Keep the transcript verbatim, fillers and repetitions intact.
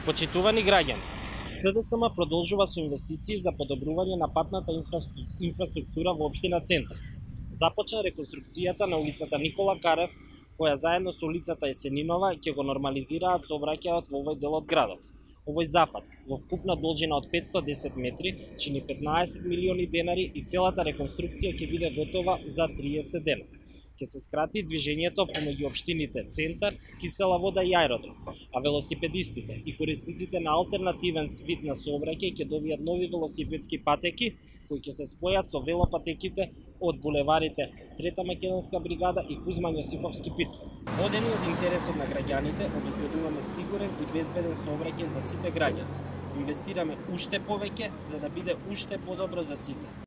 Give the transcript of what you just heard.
Почитувани граѓани, СДСМ продолжува со инвестиции за подобрување на патната инфраструктура во општина Центар. Започна реконструкцијата на улицата Никола Карев, која заедно со улицата Есенинова ќе го нормализираат сообраќајот во овој дел од градот. Овој зафат, во вкупна должина од петстотини и десет метри, чини петнаесет милиони денари и целата реконструкција ќе биде готова за триесет дена. Ќе се скрати движењето помеѓу општините Центар, Кисела Вода и Аеродром, а велосипедистите и корисниците на алтернативен вид на сообраќај ќе добијат нови велосипедски патеки кои ќе се спојат со велопатеките од булеварите Трета македонска бригада и Кузман Јосифовски пит. Водени од интересот на граѓаните, обезбедуваме сигурен и безбеден сообраќај за сите граѓани. Инвестираме уште повеќе за да биде уште подобро за сите.